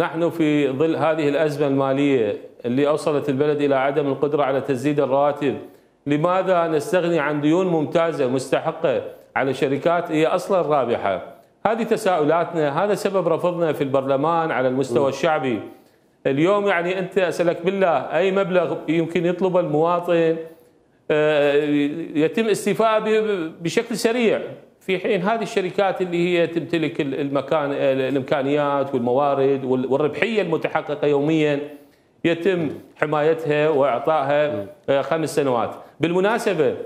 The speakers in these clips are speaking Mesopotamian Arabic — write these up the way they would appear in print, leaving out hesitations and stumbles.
نحن في ظل هذه الأزمة المالية اللي أوصلت البلد إلى عدم القدرة على تسديد الرواتب، لماذا نستغني عن ديون ممتازة مستحقة على شركات هي أصلا رابحة؟ هذه تساؤلاتنا، هذا سبب رفضنا في البرلمان على المستوى الشعبي. اليوم يعني أنت أسألك بالله أي مبلغ يمكن يطلبه المواطن يتم استيفائه بشكل سريع، في حين هذه الشركات اللي هي تمتلك الامكانيات والموارد والربحيه المتحققه يوميا يتم حمايتها واعطائها 5 سنوات. بالمناسبه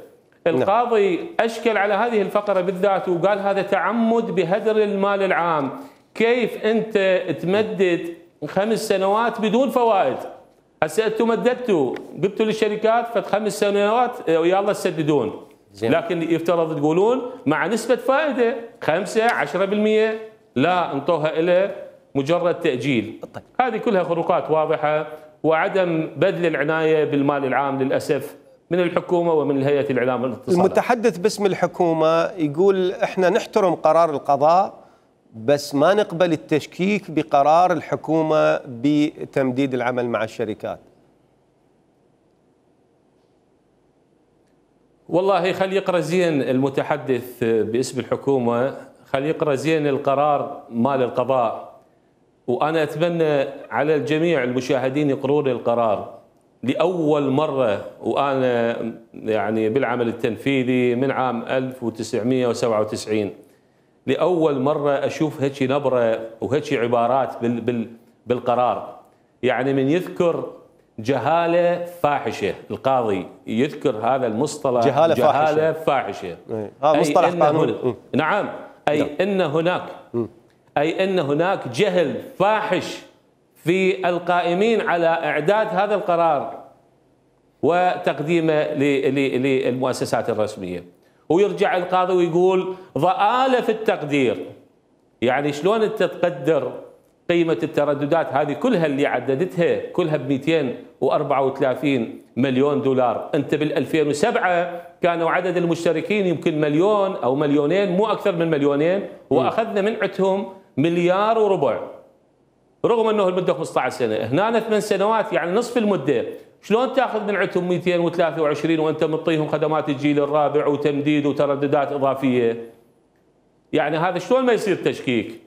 القاضي اشكل على هذه الفقره بالذات وقال هذا تعمد بهدر المال العام. كيف انت تمدد 5 سنوات بدون فوائد؟ هسه انتم مددتوا قلتوا للشركات فد 5 سنوات ويلا تسددون، لكن يفترض تقولون مع نسبة فائدة 5 10%، لا انطوها إلى مجرد تأجيل. هذه كلها خروقات واضحة وعدم بذل العناية بالمال العام للأسف من الحكومة ومن الهيئة الإعلام والاتصالات. المتحدث باسم الحكومة يقول احنا نحترم قرار القضاء بس ما نقبل التشكيك بقرار الحكومة بتمديد العمل مع الشركات. والله خلي يقرأ زين المتحدث باسم الحكومة، خلي يقرأ زين القرار مال القضاء، وأنا أتمنى على الجميع المشاهدين يقرون القرار. لأول مرة وأنا يعني بالعمل التنفيذي من عام 1997 لأول مرة أشوف هيك نبرة وهيك عبارات بالقرار. يعني من يذكر جهالة فاحشة، القاضي يذكر هذا المصطلح جهالة فاحشة. هذا مصطلح قانوني. نعم، أي أن هناك جهل فاحش في القائمين على إعداد هذا القرار وتقديمه للمؤسسات الرسمية. ويرجع القاضي ويقول ضآلة في التقدير. يعني شلون أنت تقدر قيمة الترددات هذه كلها اللي عددتها كلها ب 234 مليون دولار؟ أنت بال 2007 كانوا عدد المشتركين يمكن مليون أو مليونين، مو أكثر من مليونين، وأخذنا من عندهم 1.25 مليار رغم أنه المدة 15 سنة. هنا 8 سنوات يعني نصف المدة. شلون تاخذ من عندهم 223 وأنت مطيهم خدمات الجيل الرابع وتمديد وترددات إضافية؟ يعني هذا شلون ما يصير تشكيك؟